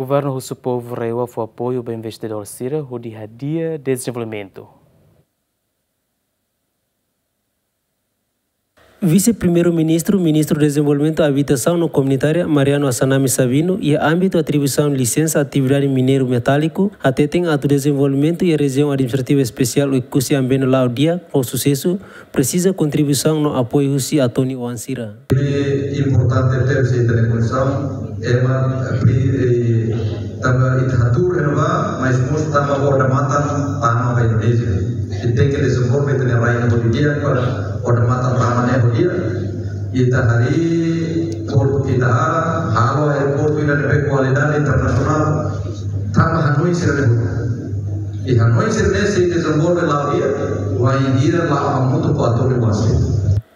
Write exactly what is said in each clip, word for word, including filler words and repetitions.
Governu husu povu RAEOA fó apoiu ba investidór sira hodi hadi'a dezenvolvimentu. Vise-Primeiru-Ministru, Ministru Dezenvolvimentu, Abitasaun no Komunitária, Mariano Assanami Sabino, iha ámbitu atribuisaun lisensa atividade mineiru metáliku, hateten atu dezenvolvimentu iha Rejiaun Administrativa Espesiál Oekusi Ambeno la'o di'ak ho susesu, presiza kontribuisaun no apoiu husi António Oan sira. Importante tebes ita-nia kondisaun, ema, eh, tanba ita hatuur iha ne'ebá, mas mós tanba odamatan tama ba Indonézia. Ita tenke dezenvolve ita-nia rai ne'e hodi di'ak para odamatan tama ne'e hodi di'ak. Ita harii portu ita halo, halo aeroportu ida ne'ebé kualidade internasionál. Tanba hanoin sira-ne'e hotu. I hanoin sira-ne'e sei dezenvolve la'o di'ak, wainhira la'o hamutuk ho António Oan sira.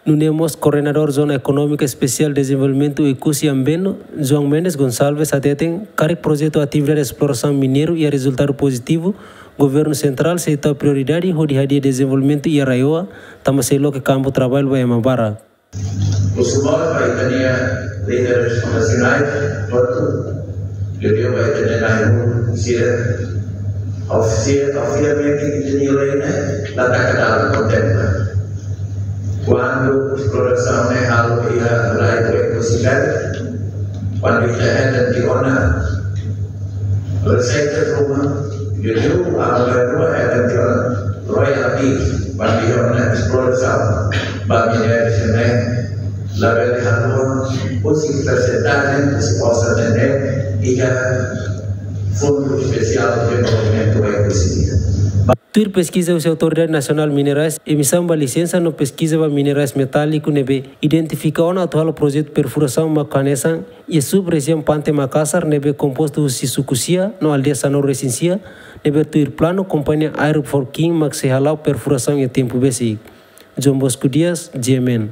Nune'e mós Koordenadór Zona Ekonómika Espesiál Dezenvolvimentu Oekusi Ambeno, João Mendes Gonçalves hateten, karik projetu atividade esplorasaun mineiru iha rezultadu pozitivu, Governu Sentrál sei tau prioridade hodi hadi'a dezenvolvimentu iha RAEOA, tanba sei loke kampu traballu ba ema barak. Husu mós ba ita-nia líderes nasionais, portu, liuliu ba ita-nia na'in-rua sira, ofisia, ofisialmente ita-nia lei ne'e la taka dalan kontempla. Kuandu esplorasaun ne'e halo iha rai Oekusi Belt, kuandu ita hetan tiha ona reseita ruma, liuliu amu-rua hetan tiha ona royalties, kuandu iha ona esplorasaun ba minériu sira-ne'e, labele haluha, husi persentajen, husi orsamentu ne'e, iha Fundu Espesiál Dezenvolvimentu Oekusi. Tuir peskiza husi Autoridade Nasionál Minerais, emisaun ba lisensa no peskiza ba minerais metáliku ne'ebé identifika ona atu halo projetu perfurasaun mak hanesan iha sub-rejiaun Pante Makasar ne'ebé kompostu husi suku sia no aldeia sanulu-resin-sia, ne'ebé tuir planu kompañia Iron for King mak sei hala'o perfurasaun iha tempu besik. João Bosco Dias, G M N.